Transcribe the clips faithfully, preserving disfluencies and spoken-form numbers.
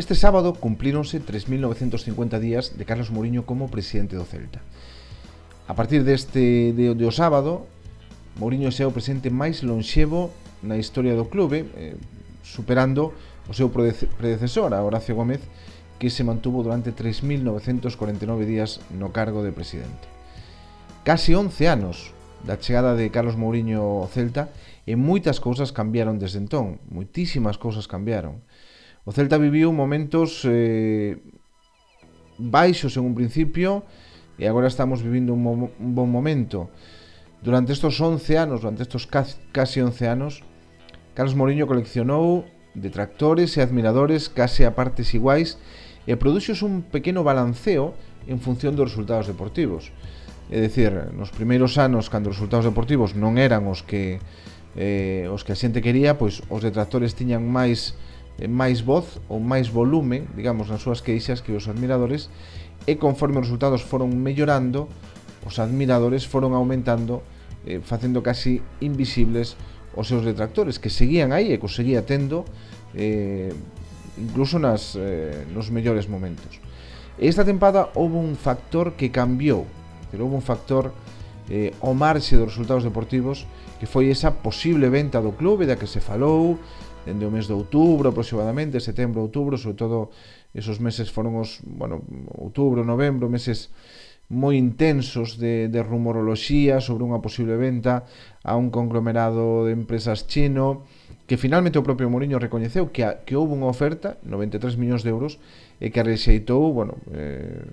Este sábado cumplíronse tres mil novecentos cincuenta días de Carlos Mouriño como presidente do Celta. A partir deste de, de o sábado, Mouriño é o presidente máis lonxevo na historia do clube, eh, superando o seu predecesor, a Horacio Gómez, que se mantuvo durante tres mil novecentos cuarenta e nove días no cargo de presidente. Casi once anos da chegada de Carlos Mouriño ao Celta e moitas cousas cambiaron desde entón, moitísimas cousas cambiaron. O Celta viviu momentos eh, baixos en un principio e agora estamos vivindo un, mo un bon momento. Durante estes once anos, durante estes casi once anos, Carlos Mouriño coleccionou detractores e admiradores case a partes iguais e produxos un pequeno balanceo en función dos resultados deportivos. É dicir, nos primeiros anos, cando os resultados deportivos non eran os que eh, os que a xente quería, pois os detractores tiñan máis máis voz ou máis volume, digamos, nas súas queixas que os admiradores, e conforme os resultados foron mellorando, os admiradores foron aumentando, eh, facendo casi invisibles os seus detractores, que seguían aí e que os seguía tendo eh, incluso nas, eh, nos mellores momentos. E esta tempada houve un factor que cambiou, pero houve un factor eh, ao marxe dos resultados deportivos, que foi esa posible venta do clube da que se falou dende o mes de outubro aproximadamente, setembro, outubro, sobre todo esos meses foron os, bueno, outubro, novembro, meses moi intensos de, de rumoroloxía sobre unha posible venta a un conglomerado de empresas chino, que finalmente o propio Mouriño recoñeceu que, a, que houve unha oferta, noventa e tres millóns de euros, e que a rexeitou, bueno, eh,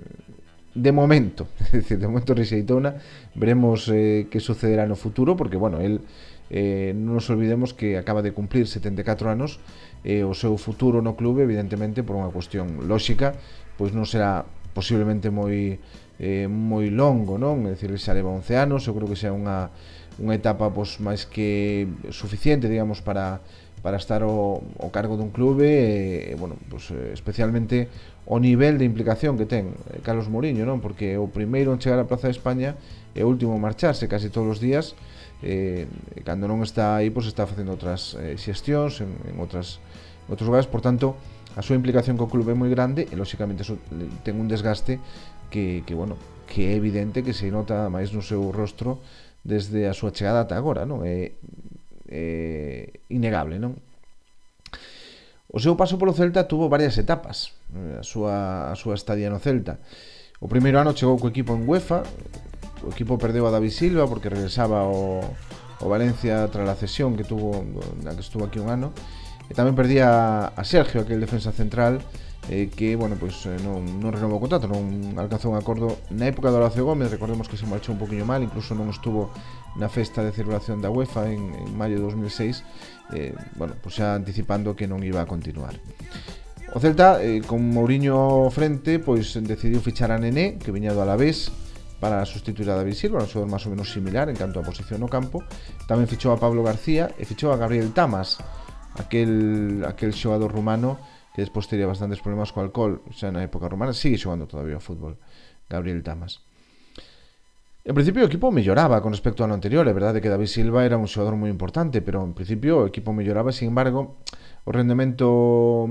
de momento, é dicir, de momento rexeitouna, veremos eh, que sucederá no futuro, porque, bueno, el Eh, non nos olvidemos que acaba de cumplir setenta e catro anos e eh, o seu futuro no clube, evidentemente, por unha cuestión lóxica, pois non será posiblemente moi eh, moi longo, non? É dicir, xa leva once anos, eu creo que xa unha, unha etapa pois, máis que suficiente, digamos, para, para estar o, o cargo dun clube e, eh, bueno, pois, especialmente o nivel de implicación que ten Carlos Mouriño, non? Porque o primeiro en chegar á Praza de España e o último en marcharse casi todos os días. Eh, cando non está aí, pois está facendo outras eh, xestións en, en outras en outros lugares, por tanto a súa implicación co clube é moi grande e lóxicamente eso ten un desgaste que, que bueno, que é evidente que se nota máis no seu rostro desde a súa chegada ata agora, non? É, é innegable, non? O seu paso polo Celta tuvo varias etapas, a súa, a súa estadía no Celta. O primeiro ano chegou co equipo en UEFA. O equipo perdeu a David Silva porque regresaba ao, ao Valencia tras a cesión que tuvo, na que estuvo aquí un ano, e tamén perdía a Sergio, aquel defensa central, eh, que, bueno, pois pues, non, non renovou o contrato, non alcanzou un acordo na época de Horacio Gómez. Recordemos que se marchou un poquinho mal, incluso non estuvo na festa de celebración da UEFA en, en maio de dos mil seis, eh, bueno, pois pues xa anticipando que non iba a continuar. O Celta, eh, con Mouriño ao frente, pois decidiu fichar a Nené, que viña do Alavés, para sustituir a David Silva, un xogador máis ou menos similar en canto a posición no campo. Tamén fichou a Pablo García e fichou a Gabriel Tamas, aquel, aquel xogador rumano que despois tería bastantes problemas co alcohol, xa na época rumana. Sigue xogando todavía ao fútbol Gabriel Tamas. En principio o equipo melloraba con respecto ao ano anterior. É verdade que David Silva era un xogador moi importante, pero en principio o equipo melloraba. Sin embargo, o rendemento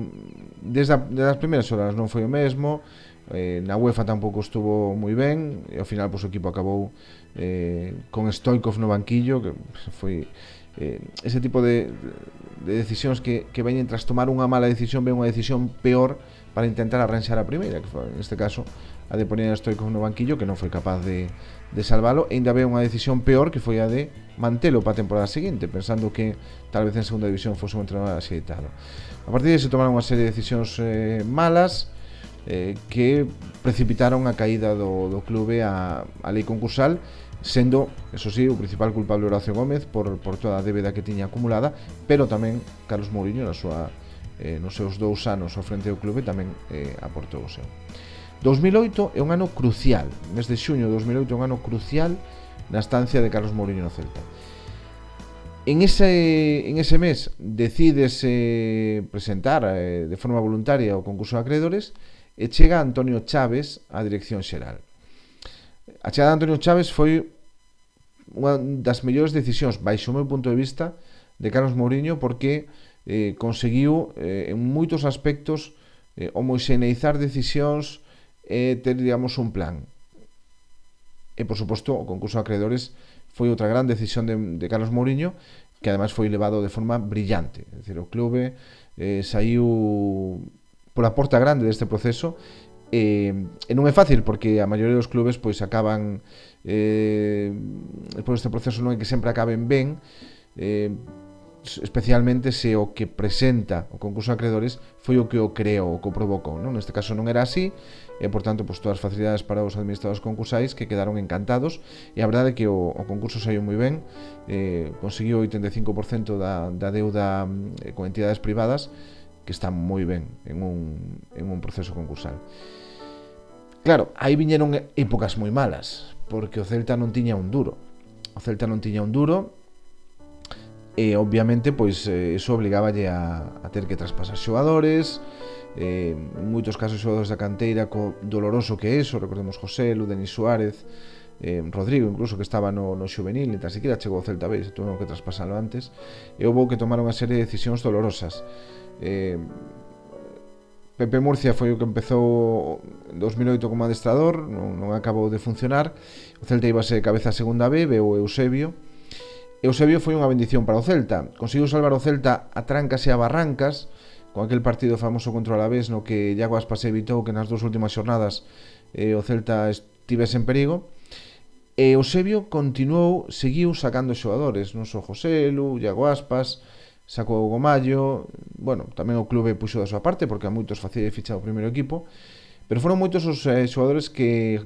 desde, a, desde as primeiras horas non foi o mesmo. Eh, na UEFA tampouco estuvo moi ben e ao final pois, o equipo acabou eh, con Stoikov no banquillo, que foi eh, ese tipo de, de decisións que, que veñen tras tomar unha mala decisión, ven unha decisión peor para intentar arranxar a primeira, que foi, en este caso, a de poner a Stoikov no banquillo, que non foi capaz de, de salvalo, e ainda ve unha decisión peor, que foi a de mantelo para a temporada seguinte, pensando que tal vez en segunda división fose un entrenador axeitado. A partir de se tomaron unha serie de decisións eh, malas, Eh, que precipitaron a caída do, do clube a, a lei concursal, sendo, eso sí, o principal culpable Horacio Gómez por, por toda a débeda que tiña acumulada, pero tamén Carlos Mouriño na súa, eh, nos seus dous anos ao frente do clube tamén eh, aportou o seu. dos mil oito é un ano crucial, mes de xuño de dos mil oito é un ano crucial na estancia de Carlos Mouriño no Celta. En ese, en ese mes decídese presentar eh, de forma voluntaria o concurso de acreedores e chega Antonio Chaves á dirección xeral. A chegada de Antonio Chaves foi unha das mellores decisións, baixo o meu punto de vista, de Carlos Mouriño, porque eh, conseguiu eh, en moitos aspectos eh, homoxeneizar decisións e ter, digamos, un plan. E, por suposto, o concurso de acreedores foi outra gran decisión de, de Carlos Mouriño, que ademais foi levado de forma brillante. É dicir, o clube eh, saiu pola porta grande deste proceso, e, e non é fácil, porque a maioría dos clubes pois acaban eh, despois deste proceso non é que sempre acaben ben, eh, especialmente se o que presenta o concurso de acreedores foi o que o creou, o que o provocou, non? Neste caso non era así, e por tanto pois, todas as facilidades para os administradores concursais, que quedaron encantados, e a verdade é que o, o concurso saiu moi ben, eh, conseguiu oitenta e cinco por cento da, da deuda eh, con entidades privadas, que está moi ben en un, en un proceso concursal. Claro, aí viñeron épocas moi malas, porque o Celta non tiña un duro. O Celta non tiña un duro, e obviamente pois eso obligáballe a, a ter que traspasar xogadores, eh, en moitos casos xogadores da canteira, co doloroso que é eso. Recordemos Joselu, Denis Suárez, eh, Rodrigo incluso, que estaba no, no xuvenil, e tan siquiera chegou ao Celta B, se tuveron que traspasalo antes, e houve que tomar unha serie de decisións dolorosas. eh, Pepe Murcia foi o que empezou en dos mil oito como adestrador, non, non acabou de funcionar. O Celta íbase cabeza a segunda B, veu Eusebio. Eusebio foi unha bendición para o Celta. Conseguiu salvar o Celta a trancas e a barrancas, con aquel partido famoso contra o Alavés, no que Iago Aspas evitou que nas dúas últimas xornadas eh, o Celta estivese en perigo. E Eusebio continuou, seguiu sacando xogadores, non só Joselu, Iago Aspas, sacou o Gomallo. Bueno, tamén o clube puxo da súa parte, porque a moitos facía fichar o primeiro equipo, pero foron moitos os eh, xogadores que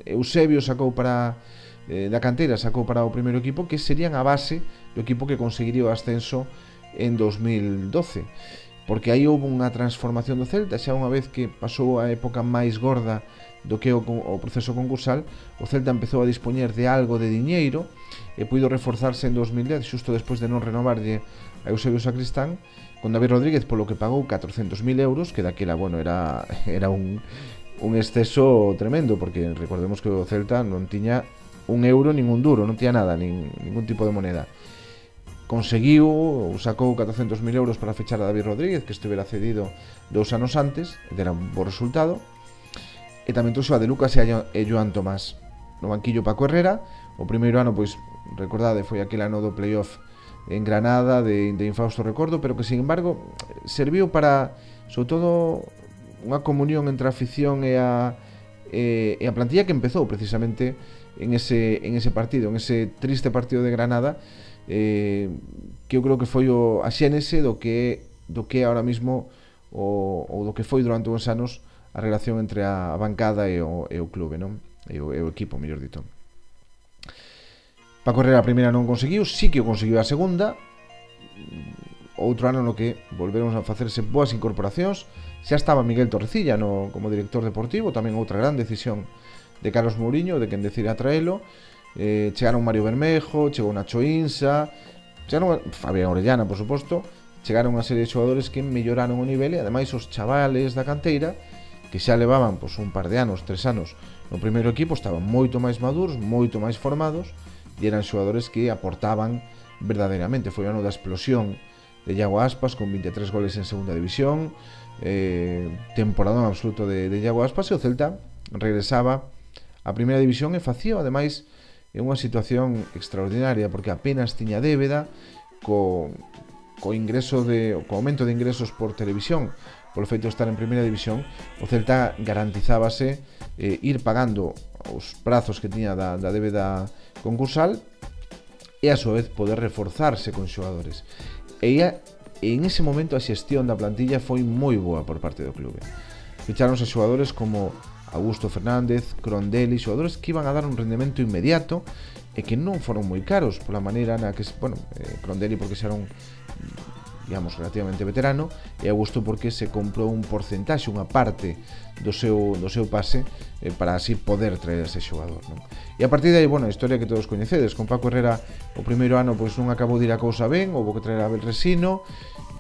Eusebio sacou para eh, da canteira, sacou para o primeiro equipo, que serían a base do equipo que conseguiría o ascenso en dos mil doce, porque aí houve unha transformación do Celta. Xa unha vez que pasou a época máis gorda do que o, o proceso concursal, o Celta empezou a dispoñer de algo de diñeiro e puido reforzarse en dos mil dez, xusto despois de non renovarlle a Eusebio Sacristán, con David Rodríguez, polo que pagou catrocentos mil euros, que daquela, bueno, era, era un, un exceso tremendo, porque recordemos que o Celta non tiña un euro, ningún duro, non tiña nada, nin, ningún tipo de moneda. Conseguiu, sacou catrocentos mil euros para fechar a David Rodríguez, que estivera cedido dous anos antes, e era un bo resultado. E tamén trouxo a De Lucas e a Joan Tomás. No banquillo Paco Herrera, o primeiro ano, pois, recordade, foi aquel ano do playoff en Granada, de, de infausto recordo, pero que, sin embargo, serviu para, sobre todo, unha comunión entre a afición e a, e, e a plantilla, que empezou precisamente en ese, en ese partido, en ese triste partido de Granada, eh, que eu creo que foi o, a xénese do que do que ahora mismo o, ou do que foi durante uns anos a relación entre a bancada e o, e o clube, non? E o, e o equipo, mellor dito. Paco Herrera a primeira non conseguiu, sí que o conseguiu a segunda. Outro ano no que volveron a facerse boas incorporacións. Xa estaba Miguel Torrecilla no, como director deportivo, tamén outra gran decisión de Carlos Mouriño, de quen decide atraelo. Eh, chegaron Mario Bermejo, chegou Nacho Insa, chegaron Fabián Orellana, por suposto. Chegaron unha serie de xogadores que melloraron o nivel, e ademais os chavales da canteira, que xa levaban pois, un par de anos, tres anos no primeiro equipo, estaban moito máis maduros, moito máis formados, e eran xogadores que aportaban verdadeiramente. Foi o ano da explosión de Iago Aspas, con vinte e tres goles en segunda división, eh, temporadón absoluto de, de Iago Aspas, e o Celta regresaba a primeira división e facía, ademais, en unha situación extraordinaria, porque apenas tiña débeda, co, co ingreso de, co aumento de ingresos por televisión, polo feito de estar en primeira división, o Celta garantizábase eh, ir pagando os prazos que tiña da, da débeda concursal, e a súa vez poder reforzarse con xogadores. E, a, e en ese momento a xestión da plantilla foi moi boa por parte do clube. Ficháronse xogadores como Augusto Fernández, Crondelli, xogadores que iban a dar un rendemento inmediato e que non foron moi caros pola maneira na que, bueno, eh, Crondelli porque xa era un, digamos, relativamente veterano, e Augusto porque se comprou un porcentaxe, unha parte do seu, do seu pase, eh, para así poder traer ese xogador, non? E a partir de aí, bueno, a historia que todos coñecedes, con Paco Herrera o primeiro ano pois non acabou de ir a cousa ben, houve que traer a Abel Resino,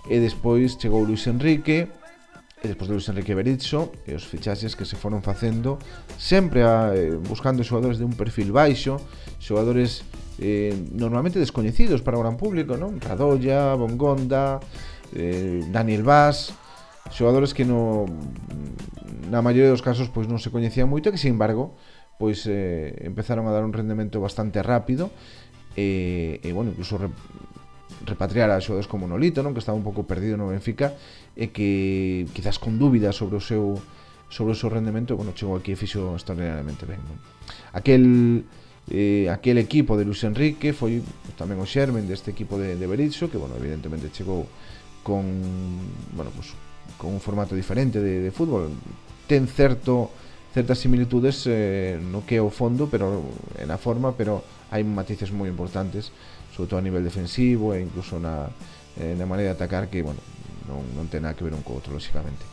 e despois chegou Luis Enrique, e despois de Luis Enrique Berizzo, e os fichaxes que se foron facendo sempre a, eh, buscando xogadores de un perfil baixo, xogadores eh, normalmente descoñecidos para o gran público, non? Radoya, Bongonda, eh, Daniel Vaz, xogadores que no na maioría dos casos pois non se coñecían moito e que, sin embargo, pois eh, empezaron a dar un rendemento bastante rápido e, e bueno, incluso re, repatriar a xogadores como Nolito, non, que estaba un pouco perdido no Benfica e que quizás con dúbidas sobre o seu sobre o seu rendemento, bueno, chegou aquí e fixo extraordinariamente ben, non? Aquel eh, aquel equipo de Luis Enrique foi tamén o xermen deste equipo de, de Berizzo, que, bueno, evidentemente chegou con, bueno, pues, con un formato diferente de, de fútbol. Ten certo certas similitudes eh, no que é o fondo, pero en a forma, pero hai matices moi importantes, sobre todo a nivel defensivo e incluso na, eh, na maneira de atacar, que, bueno, non, non ten nada que ver un co outro, lóxicamente.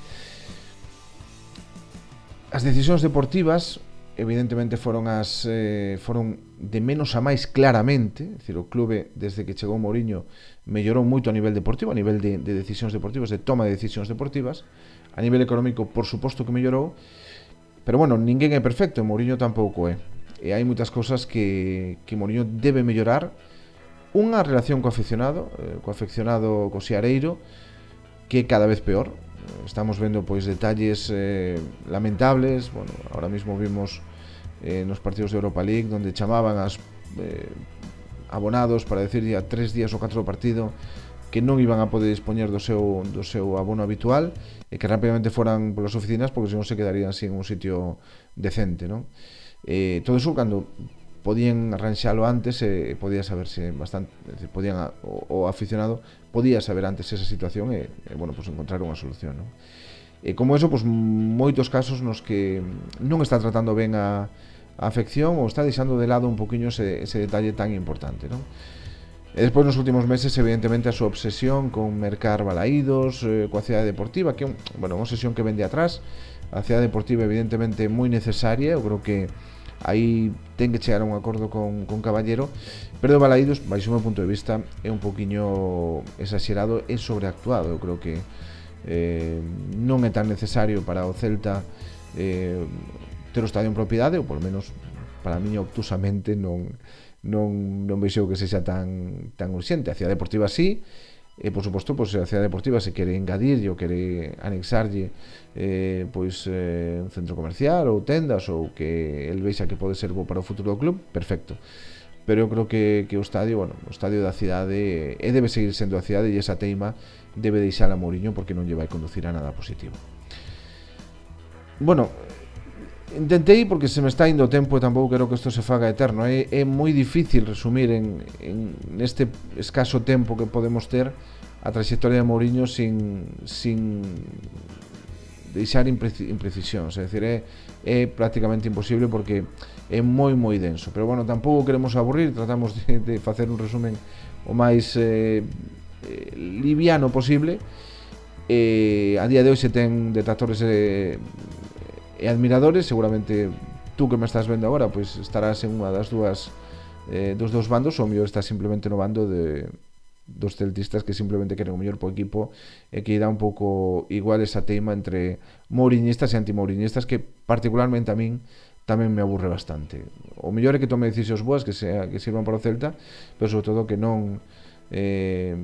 As decisións deportivas evidentemente foron as eh, foron de menos a máis claramente, é dicir, o clube desde que chegou Mourinho mellorou moito a nivel deportivo, a nivel de, de decisións deportivas, de toma de decisións deportivas. A nivel económico, por suposto que mellorou, pero bueno, ninguén é perfecto, Mourinho tampouco é, e hai moitas cousas que, que Mourinho debe mellorar. Unha relación co aficionado, eh, co afeccionado, co Seareiro, que é cada vez peor. Estamos vendo pois detalles eh, lamentables. Bueno, ahora mismo vimos eh, nos partidos de Europa League donde chamaban as eh, abonados para decir a tres días ou catro do partido que non iban a poder dispoñer do seu, do seu abono habitual e que rápidamente foran polas oficinas porque senón se quedarían sin un sitio decente, non? Eh, todo iso cando podían arranxalo antes e eh, podía saberse bastante, é dicir, podían a, o, o aficionado podía saber antes esa situación e, e bueno, pues encontrar unha solución, non? E como eso, pues moitos casos nos que non está tratando ben a, a afección ou está deixando de lado un poquinho ese, ese detalle tan importante, non? E despois nos últimos meses, evidentemente, a súa obsesión con mercar balaídos, eh, coa cidade deportiva, que é un, bueno, unha obsesión que vende atrás. A cidade deportiva, evidentemente, moi necesaria. Eu creo que aí ten que chegar a un acordo con, con Caballero, pero o balaídos, baixo o meu punto de vista, é un poquinho exagerado e sobreactuado. Eu creo que eh, non é tan necesario para o Celta eh, ter o estadio en propiedade, ou polo menos para mí obtusamente non non, non vexo que sexa tan, tan urxente. A cidade deportiva sí, e por suposto, pois, a cidade deportiva se quere engadirlle ou quere anexarlle eh, pois, eh, un centro comercial ou tendas ou que el vexa que pode ser bo para o futuro do club, perfecto. Pero eu creo que, que o estadio, bueno, o estadio da cidade e debe seguir sendo a cidade, e esa teima debe deixar a Mourinho porque non lle vai conducir a nada positivo. Bueno, intentei porque se me está indo o tempo e tampouco quero que isto se faga eterno. É, é moi difícil resumir en, en neste escaso tempo que podemos ter a trayectoria de Mourinho sin, sin deixar imprecisións. É dicir, é, é prácticamente imposible porque é moi moi denso. Pero bueno, tampouco queremos aburrir, tratamos de, de facer un resumen o máis eh, eh, liviano posible. Eh, a día de hoxe ten detractores e eh, e admiradores. Seguramente tú que me estás vendo agora pois estarás en unha das dúas eh, dos dous bandos, ou mellor estás simplemente no bando de dos celtistas que simplemente queren o mellor po equipo e que dá un pouco igual esa teima entre mouriñistas e antimourinhistas que particularmente a min tamén me aburre bastante. O mellor é que tome decisións boas que sea que sirvan para o Celta, pero sobre todo que non eh,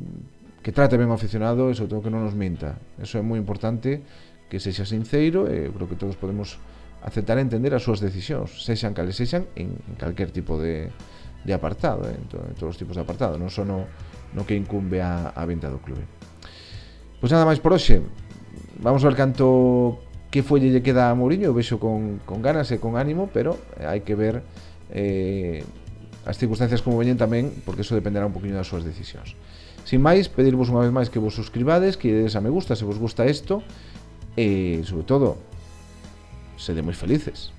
que trate ben o aficionado e sobre todo que non nos minta. Eso é moi importante, que sexa sincero, e creo que todos podemos aceptar e entender as súas decisións, sexan cales sexan, en calquer tipo de, de apartado, eh, en, to, en todos os tipos de apartado, non só no, no que incumbe a, a venta do clube. Pois nada máis por hoxe. Vamos a ver canto que folle lle queda a Mourinho. Eu vexo con, con ganas e con ánimo, pero hai que ver eh, as circunstancias como veñen tamén, porque eso dependerá un poquinho das súas decisións. Sin máis, pedirvos unha vez máis que vos suscribades, que dedes a me gusta se vos gusta isto, e sobre todo, sede moi felices.